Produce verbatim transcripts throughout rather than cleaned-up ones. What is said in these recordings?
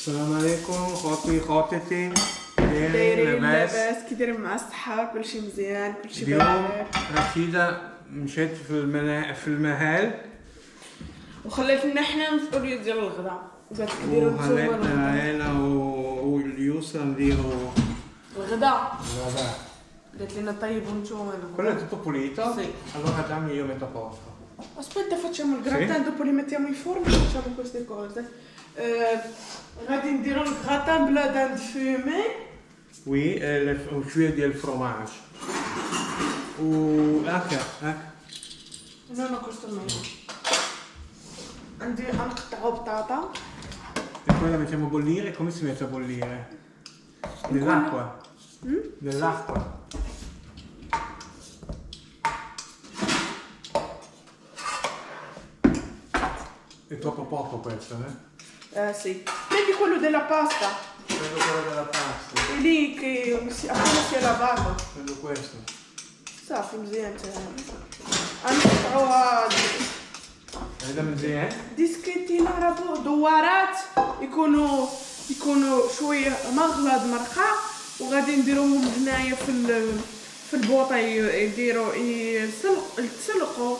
السلام عليكم خوتي خواتتي، دايرين لاباس؟ كي دايرين مع الصحة؟ كلشي مزيان، كلشي اليوم بخير. رشيدة مشات في المنا... في المحل وخلات لنا حنا المسؤولية ديال الغدا، قالت لك ديروا نتوما وخلاتنا انا واليوسف نديرو الغدا. الغدا. قالت لنا طيبوا نتوما. Quello è tutto pulito? Sì. Allora dammi, io metto a posto. Aspetta, facciamo il gratin, Sì. dopo li mettiamo in forno e facciamo queste cose. Eh, غادي نديرو ال gratin ب la dinde fumée. Oui, وشوية ديال ال fromage. و هاكا هاكا. No, no, questo meglio. عندي غنقطعو بطاطا. E poi la mettiamo a bollire. Come si mette a bollire? Nell'acqua. Mm? Nell'acqua. È troppo poco questo, eh? Eh sì. Prendi quello della pasta. Prendo quello della pasta. È lì che si, appena si è lavato. Prendo questo. صافي مزيان تا غنقطعوها. هذا مزيان. ديسكيتي نعرفو دوارات يكونوا يكونوا شوية مغلض مرقه، وغادي نديروهم هنايا في في البوطه يديروا يسلق يتسلقوا،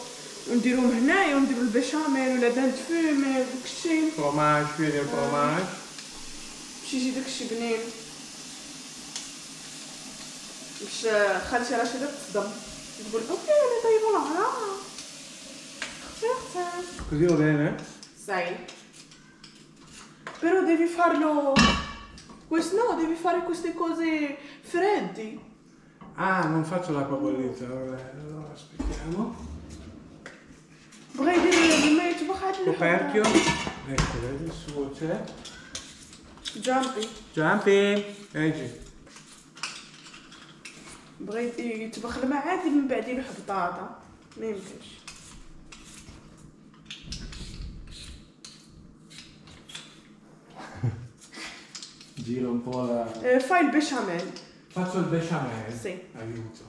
ونديروهم هنايا ونديروا البشاميل ولا dinde fumée وداكشي فروماج، شوية ديال الفروماج باش يجي داكشي بنين. باش خالتي رشيده تصدم تقول OK انا طيبة العرا. Così va bene? Sì. Però devi farlo... Questo no, devi fare queste cose freddi. Ah, non faccio l'acqua bollita, vabbè, allora aspettiamo. Vorrei dire di me, tu puoi Coperchio. Ecco, vedi, il suo c'è. Jumpy. Jumpy. Leggi. بغيت يطبخ الماء عادي من بعد يلوح بطاطا، ما يمكنش. Giro un po' la... Eh, fai il besciamella. Faccio il besciamella? Sì. Aiuto.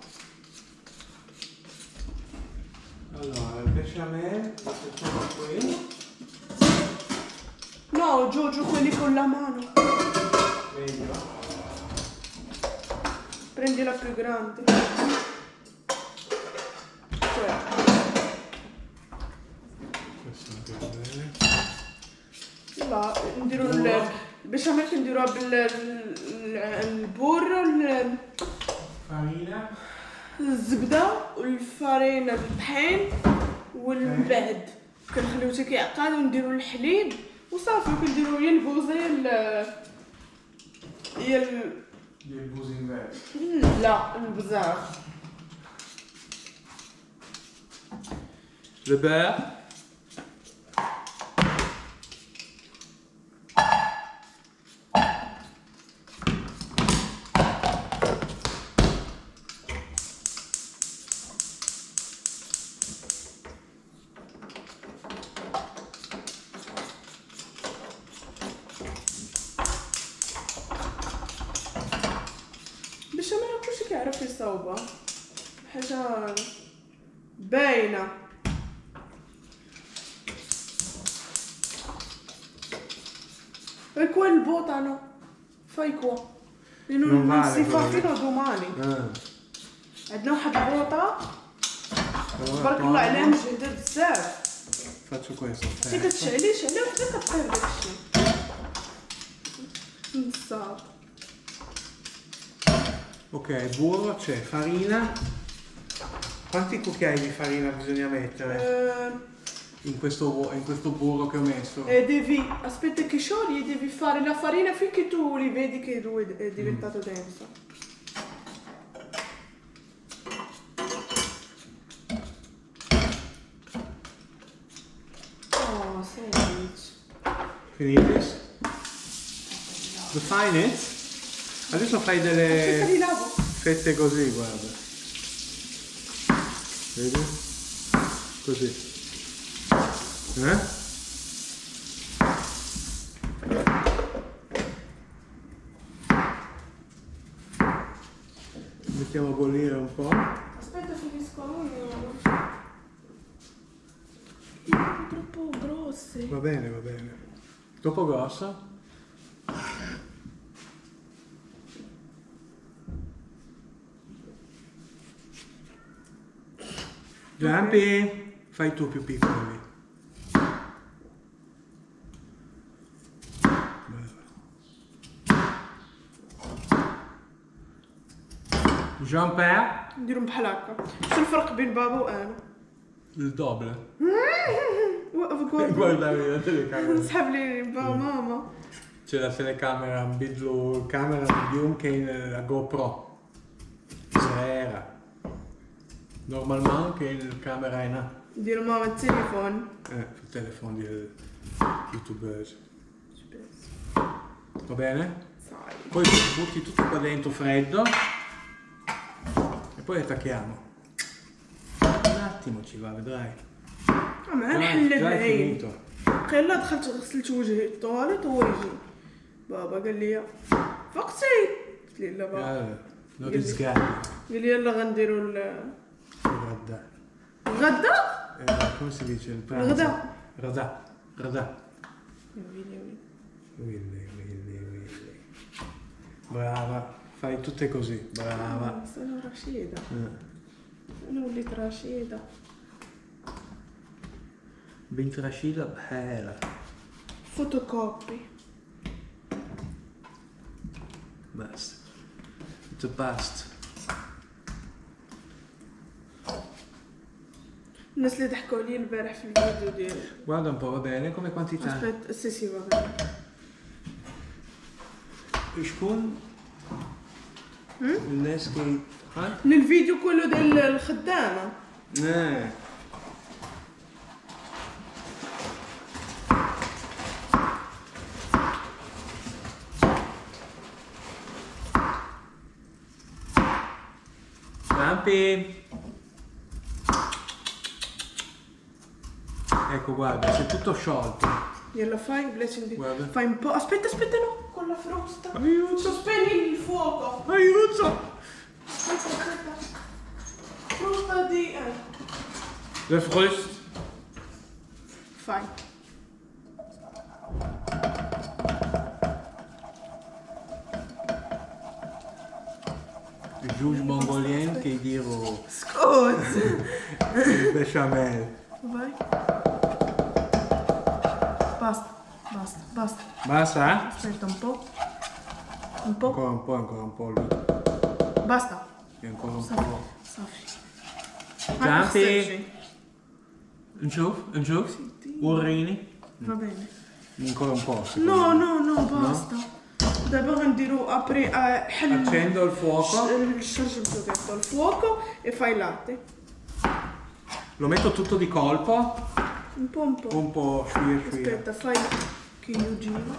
Allora, il besciamella lo facciamo qui. No, Giorgio, quelli con la mano. Meglio. Prendi la più grande. Cioè. Questo anche va bene. لا، نديرو البشاميل كنديروها بالبور، الفرينة، الزبدة والفرينة بالطحين، ومن بعد كنخليو حتى كيعقد ونديرو الحليب وصافي. كنديرو يا البوزة يا يا ديال البوزي من بعد. لا، البزار. Le beurre. البشاميل كلشي كيعرف يصاوبها، حاجة باينة. Qua il botano, fai qua. Non, non si fa fino a domani. عندنا واحد البوطه تبارك الله عليها مجهده بزاف. Faccio questo. حتى كتشعلي شعلي وحده كطيب داكشي. نصاب. Ok, burro c'è, farina. Quanti cucchiai di farina bisogna mettere? Eh... In questo, in questo burro che ho messo. E devi, aspetta che sciogli, devi fare la farina finché tu li vedi che lui è diventato mm. denso. Oh, sandwich. Finito? Define it. Adesso fai delle fette così, guarda. Vedi? Così. Eh? Mettiamo a bollire un po'. Aspetta, finisco io. Troppo grosse. Va bene, va bene. Troppo grossa? Giampi, fai tu più piccolo lì. Jean-Pierre. نديرهم بحال هكا. شنو الفرق بين بابا وانا؟ Il doble. وقف Guarda la telecamera. سحب لي بابا ماما. C'è la telecamera نبدلو الكاميرا اليوم كاين la GoPro صغيرة. Normalement كاين الكاميرا هنا. دير ماما التليفون. اه في التليفون ديال اليوتيوبرز. Va bene? Poi butti tutto qua dentro freddo e poi attacchiamo. Un attimo ci va, vedrai. مع نحل العين. قال دخلت غسلت وجهي الطواليت وهو يجي بابا قال لي فقتي، قلت لي لا بابا. قال لي يلا غنديرو الغدا. الغدا؟ come si dice il pranzo? الغدا. غدا غدا. ويلي ويلي ويلي ويلي ويلي. Brava, fai tutte così, brava. انا رشيدة. انا وليت رشيدة. بنت رشيدة بحالها. فوتوكوبي. بس. The best. الناس اللي ضحكوا عليا البارح في الفيديو ديالي. Guarda un po', va bene come quantità. Aspetta, sì sì va bene. شكون الناس كي الفيديو كله ديال الخدامة. اه Giampi. Ecco, guarda, si è tutto sciolto. Glielo fai, blessing. Guarda. Fai un po'. Aspetta, aspetta, no, con la frusta. Aiuto. Sospegni il fuoco. Aiuto. Aspetta, aspetta. Frusta di eh. La frusta. Fai. جوج mongolienne كيديروا سكوت البشاميل. Vai. Basta, basta, basta. Basta? Aspetta un po'. Un po'. Ancora un po', ancora un po' lì. Basta. E ancora un صافي po'. صافي. Giampi. نشوف نشوف وريني. Va bene. Ancora un po'. No, no, no, basta. دابا غنديرو après حل. Accendo il fuoco. الشرجم detto il fuoco e fai il latte. Lo metto tutto di colpo. Un po' un po'. Un po' sciuia sciuia. Aspetta, fai che io giro.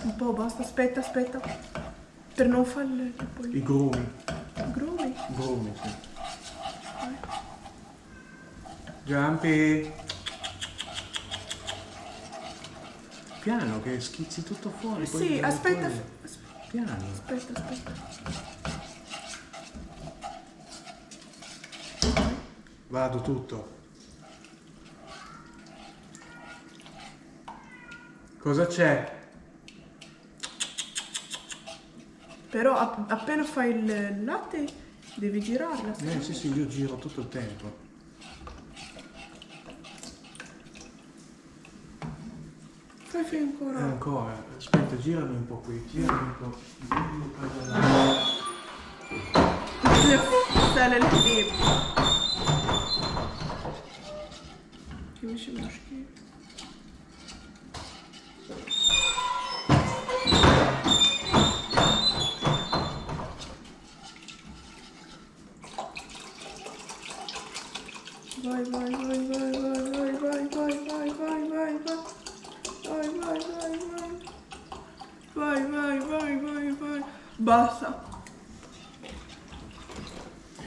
Un po' basta, aspetta, aspetta. Per non fare le poi. I grumi. Grumi? Grumi, sì. Vai. Giampi. Piano che schizzi tutto fuori. Poi sì, aspetta, fuori. Aspetta. Piano. Aspetta, aspetta. Vado tutto. Cosa c'è? Però app appena fai il latte devi girarla. Eh sì sì, io giro tutto il tempo. Fai, fai ancora. Eh, ancora. Aspetta, girami un po' qui. Girami un po'. Girami un po' da là. سهل الحبيب. ماشي مشكل. Vai vai vai vai vai vai vai vai vai vai vai vai vai vai vai vai vai vai vai. Basta.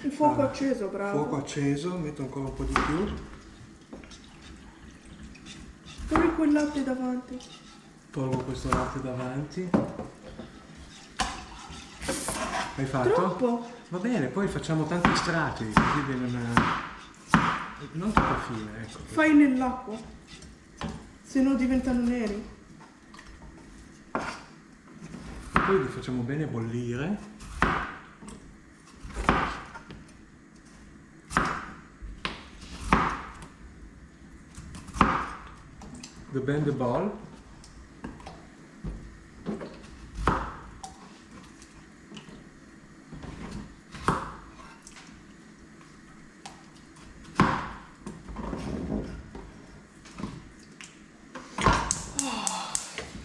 Il fuoco allora, acceso, bravo. Fuoco acceso, metto ancora un po' di più. Togli quel latte davanti. Tolgo questo latte davanti. Hai fatto? Troppo. Va bene, poi facciamo tanti strati, così viene una... Non troppo fine, ecco. Fai nell'acqua, se no diventano neri. Poi li facciamo bene bollire. The bend the ball.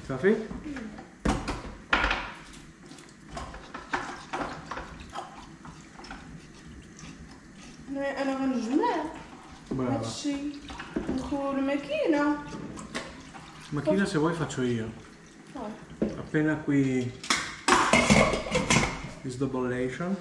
صافي؟ انا انا غنجمع هادشي ندخلو الماكينه. Macchina se vuoi faccio io. Oh. Appena qui is the bollation.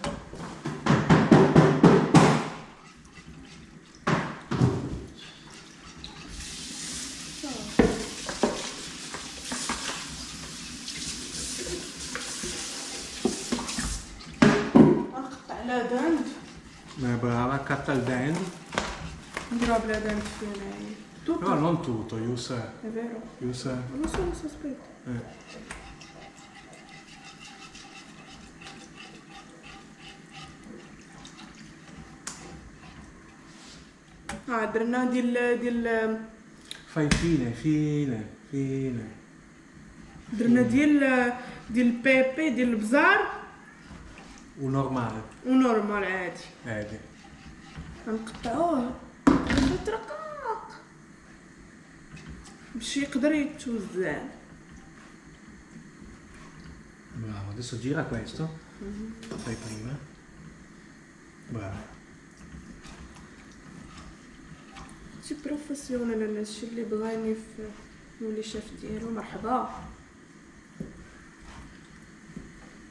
نقطع la dinde. Brava, catta il dinde. نديروها ب la dinde فينا. Tutto? No, non tutto, Yusa. È vero. Yusa. Non so, lo so, aspetta. Eh. Ah, درنا ديال ديال Fai fine, fine, fine. درنا ديال ديال pepe ديال البزار و normale. و normal عادي. عادي. غنقطعوه رقاق باش يقدر يتوزع. Bravo, adesso gira questo. Mm-hmm. Fai prima. Bravo. شي professionnel انا هادشي اللي بغاني في نولي شيف ديالو مرحبا.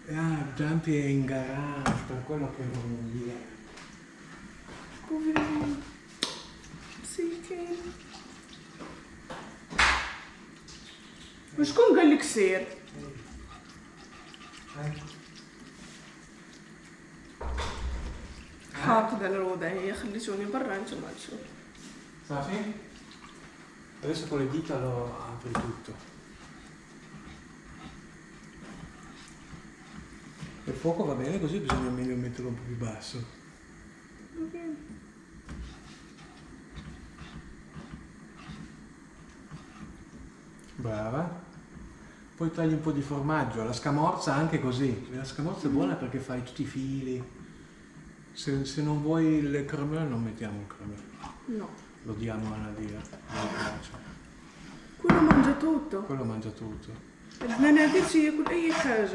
Ah, Giampi è in garage, per quello che non viene. Poverino. مسكين. وشكون قال لك سير؟ حاقد على الوضعية، خليتوني برا نتوما تشوفوا. صافي؟ Adesso con le dita lo apri tutto. Il fuoco va bene così, bisogna meglio metterlo un po' più basso. Ok. Brava. Poi tagli un po' di formaggio, la scamorza anche così. La scamorza è buona perché fai tutti i fili. Se, se non vuoi il cremeux non mettiamo il cremeux. No. Lo diamo a Nadia, non le piace. Quello mangia tutto. Quello mangia tutto. عندنا نادية تياكل أي حاجة.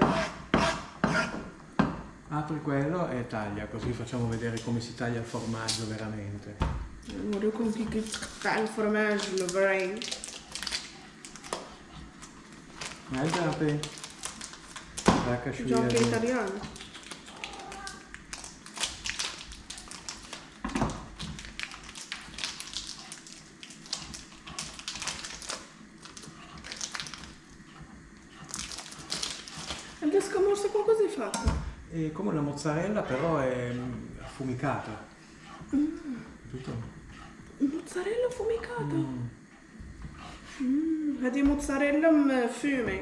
Apri quello e taglia, così facciamo vedere come si taglia il formaggio veramente. نوريكم كي كيتقطع الفرماج البراي. Guardate. La Giochi italiano. La scamorza con cosa è fatta? È come una mozzarella, però è affumicata. Mm. Capito? Mozzarella affumicata? Mm. Mm, هذه mozzarella fumé.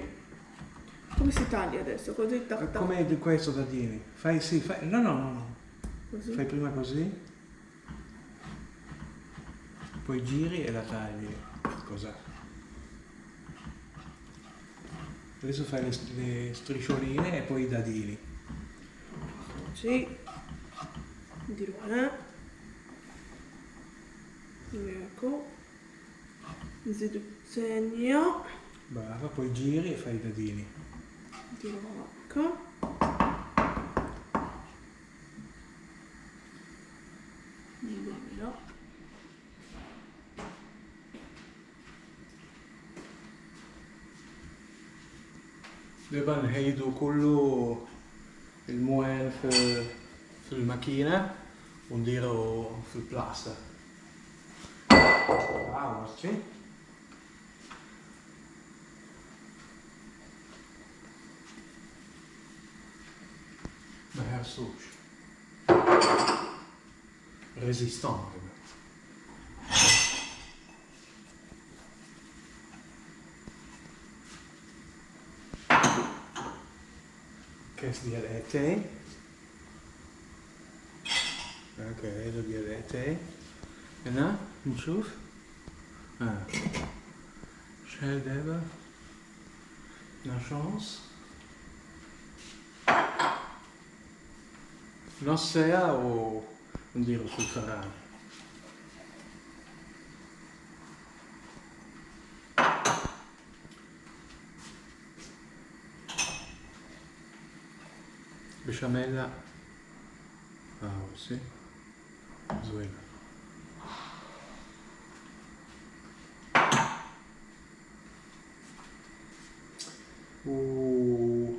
Come si taglia adesso? Così tac, tac. Come di questo dadini. Fai sì, fai. No, no, no, no. Così. Fai prima così. Poi giri e la tagli. Cosa? Adesso fai le, le striscioline e poi i dadini. Sì. نديروها. Ecco. نزيدو الثانية. Brava, poi giri e fai i dadini. نديروها هكا. نديروها. دابا نهيدو كله الموان في في الماكينة ونديرو في البلاصة. Bravo, sì. ما هرسوش. Résistant. كاس ديال اتاي. okay هذا ديال اتاي. هنا نشوف. اه شحال دابا؟ اثناش ونص، نص ساعة ونديرو في الفران. بشاميلا اه sì زوينة. و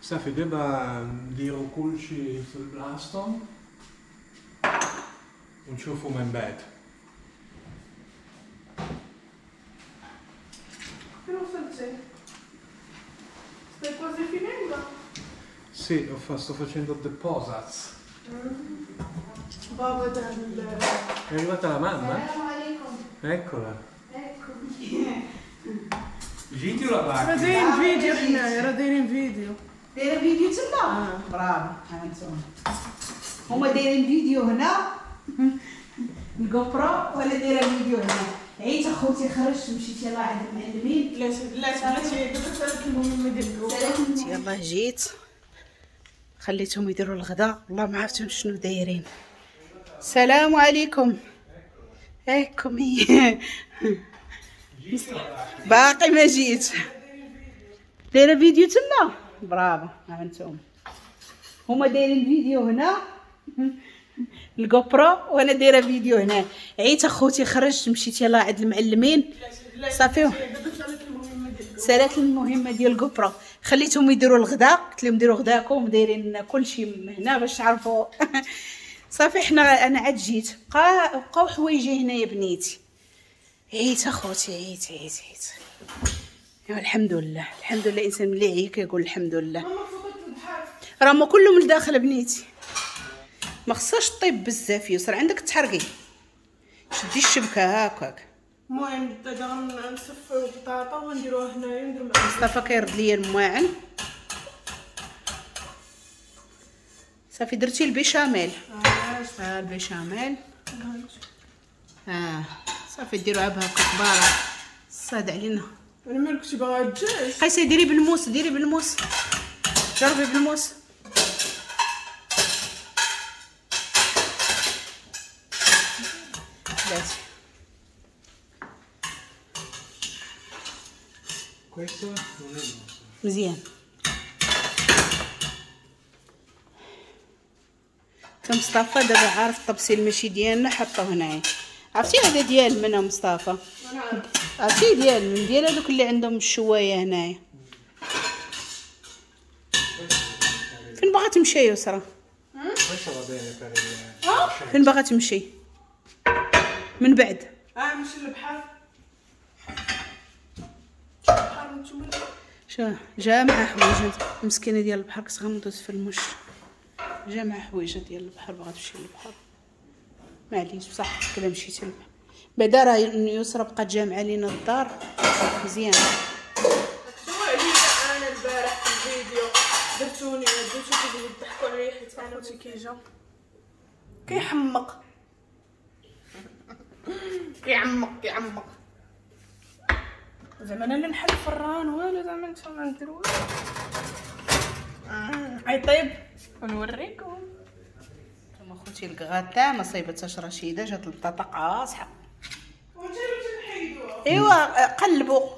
صافي دابا نديرو كلشي في بلاصتو ونشوفو من بعد. فين وصلتي؟ Stai quasi finendo? Sì, ho fa, sto facendo the posaz. بابا دار. È arrivata la mamma? Eccola. Eccomi. جيتي ولا راه باقي؟ دايرين فيديو حنايا، راه دايرين فيديو. دايرة فيديو تما؟ برافو، ها انتم. هما دايرين فيديو هنا ال GoPro ولا دايرة فيديو هنا. عيت اخوتي، خرجت مشيت يلاه عند المعلمين. لا لا بلاتي دابا سالت المهمة ديال ال GoPro. يلاه جيت خليتهم يديروا الغداء، والله ما عرفتهم شنو دايرين. السلام عليكم. اكم باقي ما جيت. دايرة فيديو تما؟ برافو، ها انتم. هما دايرين فيديو هنا ال GoPro وانا دايرة فيديو هنا. عيت اخوتي، خرجت مشيت يلاه عند المعلمين. صافي سالات المهمة ديال ال GoPro، خليتهم يديروا الغداء، قلت لهم ديروا غداكم، دايرين كلشي هنا باش تعرفوا. صافي حنا انا عاد جيت، بقى بقاو حوايجي هنايا بنيتي. عيت اخوتي، عيت عيت عيت. ايوا الحمد لله، الحمد لله. الانسان ملي عيا كيقول الحمد لله. راه ما كلهم لداخل بنيتي، ما خصهاش طيب بزاف. يسر عندك تحرقي، شدي الشبكة هكاك. المهم دابا غنصفيو البطاطا ونديروها هنايا ونديرو معاها. مصطفى كيرد ليا المواعن. صافي درتي البيشاميل. اه آه البيشاميل اه صافي ديروها بهكا كباره. الصاد علينا. انا مالك كنتي باغا الدجاج؟ قيسي ديري بالموس، ديري بالموس، جربي بالموس. بلاتي. مزيان. تا مصطفى دابا عارف الطبسيل ماشي ديالنا، حطوه هنايا. عرفتي هذا ديال من مصطفى؟ عرفتي ديال من؟ ديال هذوك اللي عندهم الشوايه هنايا. فين باغا تمشي يا يسرا؟ فين باغا تمشي من بعد؟ اه نمشي للبحر. البحر نتوما شا جامعه حوايج المسكينة ديال البحر، كنت غندوز في المش. جامعه حوايج ديال البحر، باغا تمشي للبحر. معليش بصحتك الا مشيتي للبحر. بعدا راه يسرا بقات جامعه لينا الدار مزيان. شنو عليا انا البارح في الفيديو درتوني درتو كتضحكوا عليا حيت انا خوتي كيجا كيحمق كيعمق كيعمق زعما انا اللي نحل الفران والو، زعما نتوما ندير والو. عيطيب ونوريكم. نتوما خوتي الكغاتا ما صايبتهاش رشيده، جات البطاطا قاصحة. ايوا قلبوا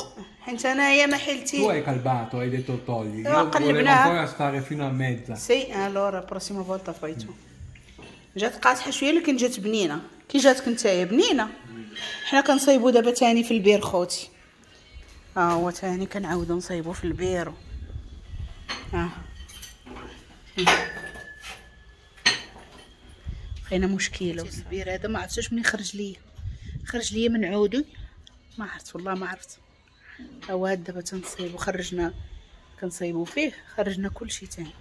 حيت انايا ما حيلتي. Tu hai calbato, hai detto togli. Io volevo ancora stare fino a mezza. Sì, allora prossima volta fai tu. جات قاصحة شوية لكن جات بنينه. كي جاتك نتايا بنينه. حنا كنصايبو دابا تاني في البير خوتي. ها هو تاني كنعاودو نصايبو في البير. ها بقينا مشكلة البير هذا ما عرفتش منين خرج ليا، خرج ليا من عودي ما عرفت والله ما عرفت. هو هاد دابا تنصايبو، خرجنا كنصايبو فيه، خرجنا كلشي تاني.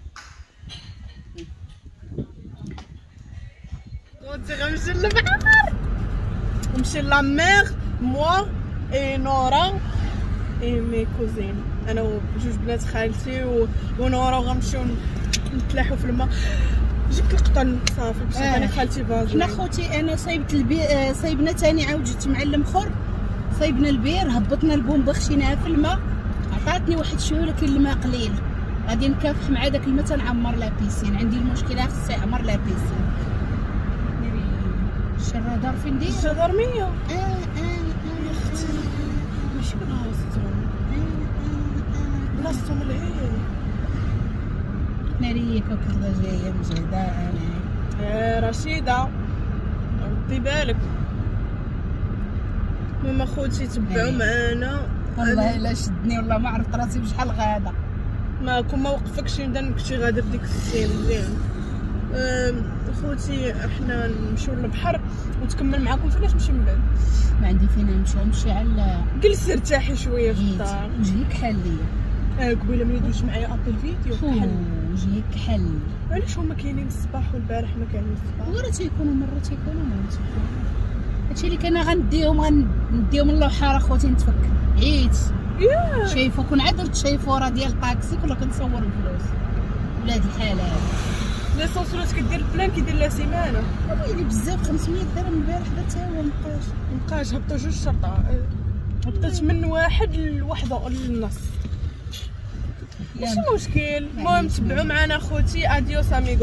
غادي غنمشي للبحر، نمشي la mer moi et نورا et mes cousines. انا وجوج بنات خالتي ونورا وغنمشيو نتلاحو في الماء. جبت القطن صافي باش آه. انا خالتي فازلين. حنا خوتي انا صايبت البي... صايبنا ثاني عاود جبت معلم اخر، صايبنا البير، هبطنا البومبه خشيناها في الماء، عطاتني واحد شوية ولكن الماء قليل. غادي نكافح مع داك الماء تنعمر la piscine، عندي المشكلة خصني نعمر la piscine. الشرادار فين داير؟ الجدرميه اه اه اه يا اختي ماشي بلاصتهم، آه، بلاصتهم العين. ناري كوكا جاية مجهده انا. آه رشيده ردي بالك. المهم اخوتي تبعوا معانا. والله الا شدني والله ما عرفت راسي بشحال غاده. ما كون ما وقفكش نبدا كنتي غاده بديك السين مزيان. خوتي احنا نمشيو للبحر وتكمل معاكم فين نمشي من بعد. ما عندي فين نمشي، نمشي على جلسي ارتاحي شوية في الدار. وجهي كحل ليا. اه قبيلة ملي دوزت معايا appel vidéo كحل وجهي كحل. علاش هما كاينين الصباح والبارح ما كانوا الصباح؟ وراه تيكونوا مرة تيكونوا مرة تيكونوا. هادشي اللي كان غنديهم غنديهم اللوحة راه خوتي نتفك عيت. شايفو كون عاد درت شايفو ديال الطاكسي كنا كنصور الفلوس. ولاد الحلال l'essence ولات كدير ال plein كيدير لها سيمانه. ويلي بزاف خمسمية درهم البارح درتها هو مبقاش مبقاش. هبطوا جوج شرطه، هبطت من واحد لوحده للنص. ماشي مشكل. المهم تبعوا معنا خوتي. adiós amigos.